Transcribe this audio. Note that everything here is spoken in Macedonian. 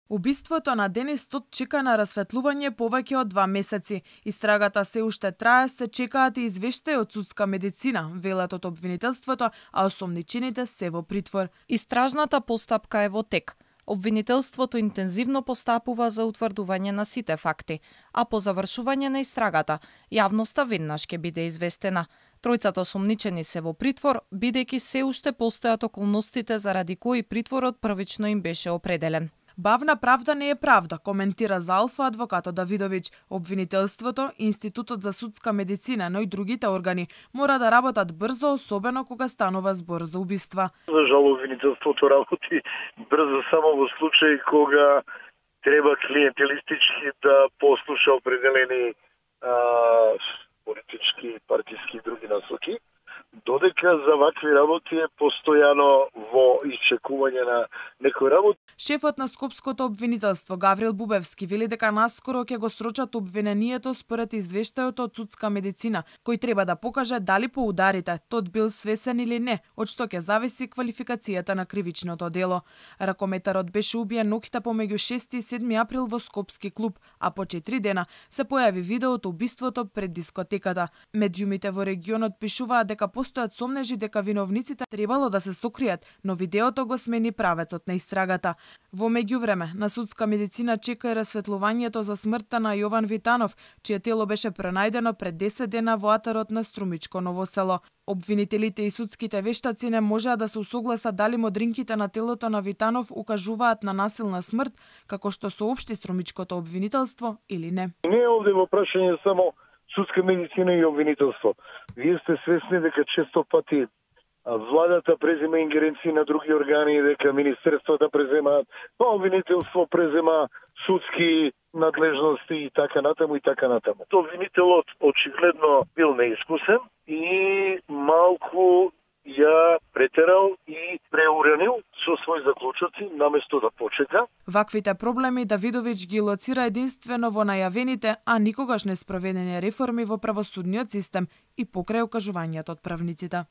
Убиството на Денис Тот чека на расветлување повеќе од 2 месеци. Истрагата се уште трае, се чекаат и извештаи од судска медицина, велат од обвинителството, а осомничените се во притвор. Истражната постапка е во тек. Обвинителството интензивно постапува за утврдување на сите факти, а по завршување на истрагата, јавноста веднаш ќе биде известена. Тројцата осомничени се во притвор, бидејќи се уште постојат околностите заради кои притворот првично им беше определен. Бавна правда не е правда, коментира за Алфа адвокатот Давидовиќ. Обвинителството, Институтот за судска медицина, но и другите органи мора да работат брзо, особено кога станува збор за убиства. За жал, обвинителството работи брзо само во случај кога треба клиентелистички да послуша определени политички, партиски и други насоки, додека за вакви работи е постојано во исчекување на некој работ. Шефот на Скопското обвинителство Гаврил Бубевски вели дека наскоро ќе го срочат обвинението според извештајот од судска медицина, кој треба да покаже дали по ударите Тот бил свесен или не, од што ќе зависи квалификацијата на кривичното дело. Ракометарот беше убиен ноќта помеѓу 6 и 7 април во Скопски клуб, а по 4 дена се појави видео од убиството пред дискотеката. Медиумите во регионот пишуваат дека постојат сомнежи дека виновниците требало да се сокријат, но видеото го смени правецот на истрагата. Во меѓувреме, на судска медицина чека и расветлувањето за смртта на Јован Витанов, чие тело беше пронајдено пред 10 дена во атарот на Струмичко Ново село. Обвинителите и судските вештаци не можеа да се усогласат дали модринките на телото на Витанов укажуваат на насилна смрт, како што соопшти Струмичкото обвинителство или не. Не е овде во прашање само судска медицина и обвинителство. Вие сте свесни дека често пати владата презема ингеренции на други органи, дека министерствата преземаат, па обвинителство презема судски надлежности и така натаму и така натаму. Обвинителот очигледно бил неискусен и малку ја претерал и преуранил со своји заклучоци наместо да почека. Ваквите проблеми Давидовиќ ги лоцира единствено во најавените, а никогаш не спроведени реформи во правосудниот систем и покрај окажувањето од правниците.